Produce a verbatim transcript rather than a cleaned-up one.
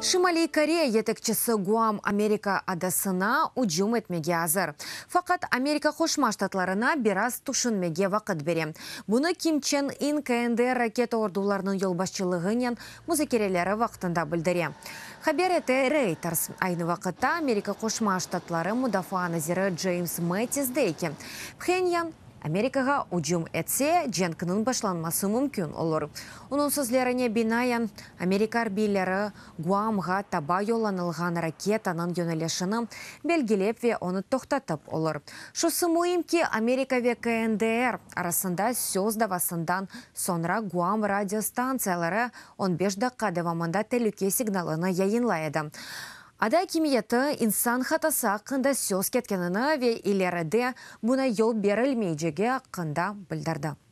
Şimaliy Koreya yetekçisi Guam Amerika adasına ücüm etmege azır. Faqat Amerika Qoşma Ştatlarına biraz tüşünmege vaqıt bere. Bunı Kim Çen In K N D R raketa ordularınıñ yolbaşçılığınen muzakereleri vaqtında bildire. Haber ete Reuters. Aynı vaqıtta Amerika Qoşma Ştatları mudafaa naziri James Mattis dey ki, Phenyan Amerikağa ücüm etse, cenkniñ başlanması mümkün olur. Onıñ sözlerine binaen, Amerika arbiyleri Guamğa taba yollanılğan raketanıñ yönelişini belgilep ve onı toqtatıp olur. Şusı müim ki, Amerika ve K N D R arasında söz davasından soñra Guam radiostantsiyaları on beş daqqa devamında telüke signalını yayınlay edi. Ada akimiyeti insan hatası aqqında söz ketkenini ve ileride buña yol berilmeycegi aqqında bildirdi.